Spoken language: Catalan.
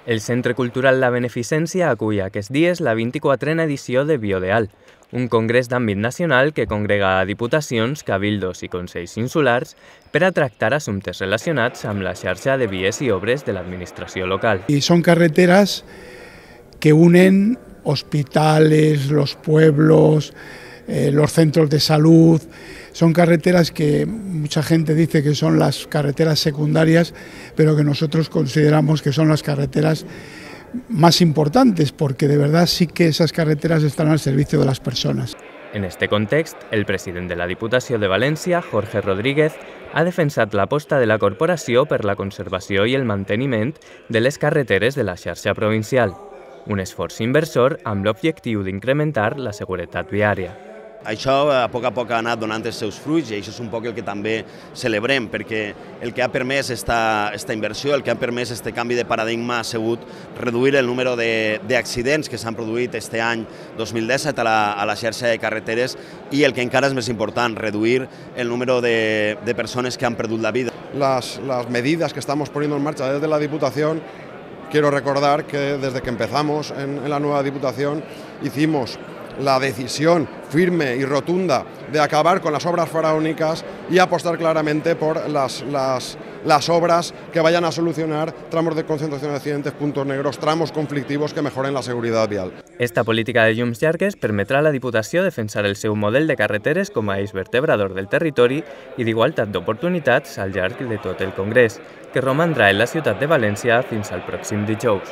El Centre Cultural La Beneficència acull aquests dies la 24a edició de Biodeal, un congrés d'àmbit nacional que congrega a diputacions, cabildos i consells insulars per a tractar assumptes relacionats amb la xarxa de vies i obres de l'administració local. Y son carreteras que unen hospitales, los pueblos, los centros de salud. Son carreteras que mucha gente dice que son las carreteras secundarias, pero que nosotros consideramos que son las carreteras más importantes, porque de verdad sí que esas carreteras están al servicio de las personas. En este context, el president de la Diputació de València, Jorge Rodríguez, ha defensat l'aposta de la corporació per la conservació i el manteniment de les carreteres de la xarxa provincial, un esforç inversor amb l'objectiu d'incrementar la seguretat viària. Això a poc ha anat donant els seus fruits i això és un poc el que també celebrem, perquè el que ha permès esta inversió, el que ha permès este canvi de paradigma ha sigut reduir el número d'accidents que s'han produït este any 2017 a la xarxa de carreteres i el que encara és més important, reduir el número de persones que han perdut la vida. Las medidas que estamos poniendo en marcha desde la Diputación, quiero recordar que desde que empezamos en la nueva Diputación hicimos la decisión firme y rotunda de acabar con las obras faraónicas y apostar claramente por las obras que vayan a solucionar tramos de concentración de accidentes, puntos negros, tramos conflictivos que mejoren la seguridad vial. Esta política de llums llargues permetrà a la Diputació defensar el seu model de carreteres com a eix vertebrador del territori i d'igualtat d'oportunitats al llarg de tot el Congrés, que romandrà en la ciutat de València fins al pròxim dijous.